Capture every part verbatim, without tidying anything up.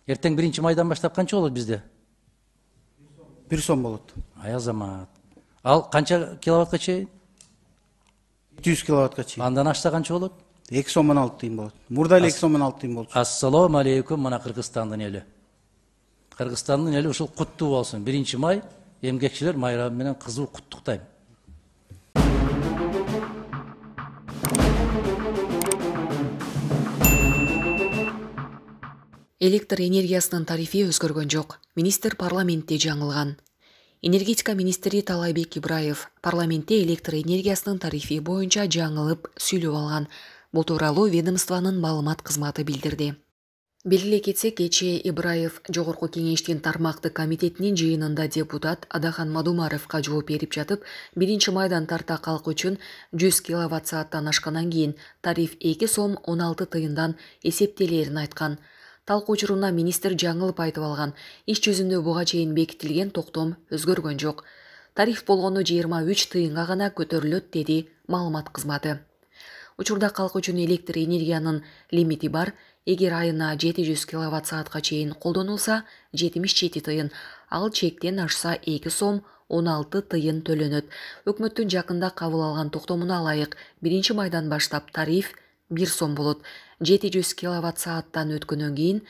Эртең биринчи майдан баштап канча болот бизде? бир сом болот. Ай азамат. Ал канча киловаттка чейин? жети жүз киловаттка чейин. Андан ашса канча болот? эки сом он алты тыйын болот. Мурда эле эки сом он алты тыйын болчу. Ассалому алейкум, мына Кыргызстандын эли. Кыргызстандын эли ушул куттуу болсун. биринчи май эмгекчилер майрамы менен кызуу куттуктайм. Электр энергиясынын тарифи өзгөргөн жок. Министр парламентте жаңылган. Энергетика министри Талайбек Ибраев парламентте электр энергиясынын тарифи боюнча жаңылып сүйлөп алган. Бул тууралуу ведомствонун маалымат кызматы билдирди. Белгилей кетсек, кечээ Ибраев Жогорку кеңештин тармактык комитетинин жыйынында депутат Адахан Мадумаровго жооп берип жатып, биринчи майдан тарта калк үчүн жүз киловатт сааттан ашкандан кийин тариф эки сом он алты тыйындан эсептелерин айткан. Талкуу учурунда министр жаңылып айтып алган. Иш жүзүндө буга чейин бекитилген токтом өзгөргөн жок. Тариф болгону жыйырма үч тыйынга гана көтөрүлөт, деди маалымат кызматы. Учурда калк үчүн электр энергиянын лимити бар. Эгер айына жети жүз киловатт саатка чейин колдонулса, жетимиш жети тыйын, ал чектен ашса эки сом он алты тыйын төлөнөт. Өкмөттүн жакында кабыл алган токтомуна ылайык биринчи майдан баштап тариф бир сом болот. жети жүз киловатт сааттан өткөндөн кийин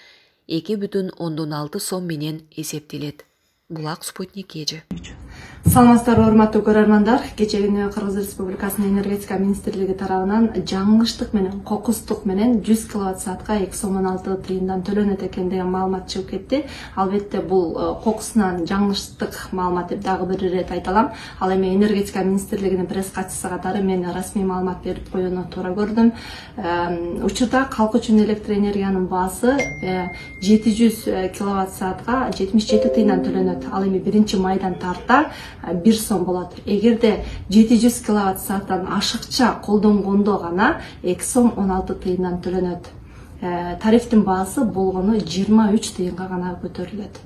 эки бүтүн ондон алты сом менен эсептелет. Булак Спутник эже. Саламатсыздарбы, урматтуу көрөрмандар. Кечээ күнү Кыргыз Республикасынын энергетика министрлиги тарабынан жаңылыштык менен, кокустук менен жүз киловатт саатка эки сом он алты тыйындан төлөнөт экен деген маалымат чыгып кетти. Албетте бул кокусунан жаңылыштык маалымат деп дагы бир ирет айталам. Ал эми энергетика министрлигинин пресс катчысы катары мен расмий маалымат берип коюуну туура көрдүм. Учурда калк үчүн электр энергиянын баасы жети жүз киловатт саатка жетимиш жети тыйындан төлөнөт. Ал эми биринчи майдан тарта бир сом болот. Эгерде жети жүз киловатт сааттан ашыкча колдонгондо гана эки сом он алты тыйындан төлөнөт. Тарифтин баасы болгону жыйырма үч тыйынга гана көтөрүлөт.